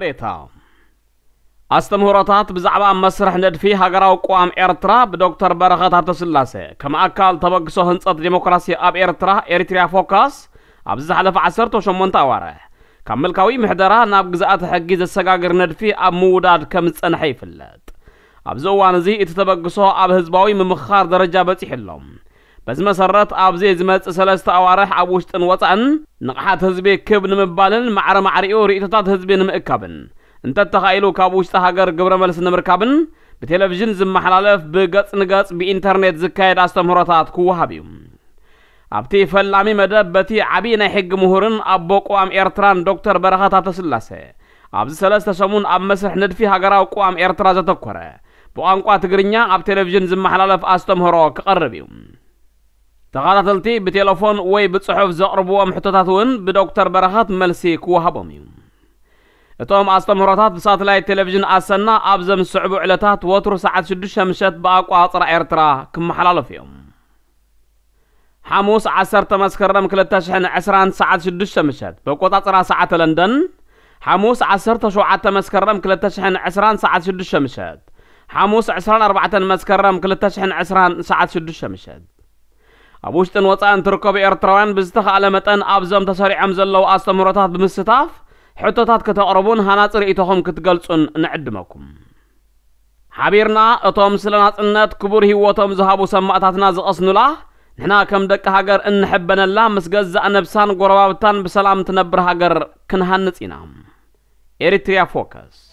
ቤታ ኣስተምህሮታት ብዛዕባ መስርሕ ንድፊ ሃገራዊ ቅዋም ኤርትራ ብዶክተር በረኸት ሃብተስላሴ ከም ኣካል ተበግሶ ህንጸት ዴሞክራሲ ኣብ ኤርትራ፣ ኤሪትሪያ ፎካስ፣ ኣብዚ ዝሓለፈ ዓሰርተ ሸሞንተ ኣዋርሕ ካብ ምልካዊ ምሕደራ ናብ ግዝኣተ ሕጊ ዘሰጋግር ንድፊ ኣብ ምውዳድ ከም ዝጸንሐ ይፍለጥ። ኣብዚ እዋን እዚ እቲ ተበግሶ ኣብ ህዝባዊ ምምኽኻር ደረጃ በጺሑ ኣሎ። በዚ መሰረት ኣብዚ ዝመጽእ ሰለስተ ኣዋርሕ ኣብ ውሽጥን ወጻእን ንቕሓት ህዝቢ ክብ ንምባልን ማዕረ ማዕሪኡ ርእይቶታት ህዝቢ ንምእካብን እንተተኻኢሉ ካብ ውሽጢ ሃገር ግብረ መልሲ ንምርካብን ብቴሌቪዥን ዝመሓላለፍ ብገጽ ንገጽ ብኢንተርኔት ዝካየድ ኣስተምህሮታት ክወሃብ እዩ። ኣብቲ ፈላሚ መደብ በቲ ዓብዪ ናይ ሕጊ ምሁርን ኣቦ ቅዋም ኤርትራን ዶክተር በረኸት ሃብተስላሴ ኣብዚ ሰለስተ ሰሙን ኣብ መስርሕ ንድፊ ሃገራዊ ቅዋም ኤርትራ ዘተኮረ ብቋንቋ ትግርኛ ኣብ ቴሌቪዥን ዝመሓላለፍ ኣስተምህሮ ክቐርብ እዩ። ተኸታተልቲ ብቴሌፎን ወይ ብጽሑፍ ዘቕርብዎም ሕቶታት እውን ብዶክተር በረኸት መልሲ ክወሃቦም እዩ። እቶም ኣስተምህሮታት ብሳተላይት ቴሌቪዥን ኣሰና ኣብዘም ዝስዕቡ ዕለታት ወትሩ ሰዓት ሽዱሽተ ምሸት ብኣቋጽራ ኤርትራ ክመሓላለፉ እዮም። ሓሙስ ዓሰርተ መስከረም ክልተ ሽሕን ዕስራን ሰዓት ሽዱሽተ ምሸት ብኣቆጻጽራ ሰዓተ ለንደን፣ ሓሙስ ዓሰርተ ሸውዓተ መስከረም ክልተ ሽሕን ዕስራን ሰዓት ሽዱሽተ ምሸት፣ ሓሙስ ዕስራን ኣርባዕተን መስከረም ክልተ ሽሕን ዕስራን ሰዓት ሽዱሽተ ምሸት። ኣብ ውሽጥን ወጻእን ትርከቡ ኤርትራውያን ብዝተኻእለ መጠን ኣብዞም ተሰሪዖም ዘለዉ ኣስተምህሮታት ብምስታፍ ሕቶታት ከተቕርቡን ሃናጺ ርእይቶኹም ክትገልጹን ንዕድመኩም። ሓቢርና እቶም ስለ ናጽነት ክቡር ህይወቶም ዝሃቡ ሰማእታትና ዝቐስኑላ፣ ንሕና ከም ደቂ ሃገር እንሕበነላ ምስ ገዛእ ነብሳን ጎረባብታን ብሰላም ትነብር ሃገር ክንሃንጽ ኢና። ኤሪትሪያ ፎከስ።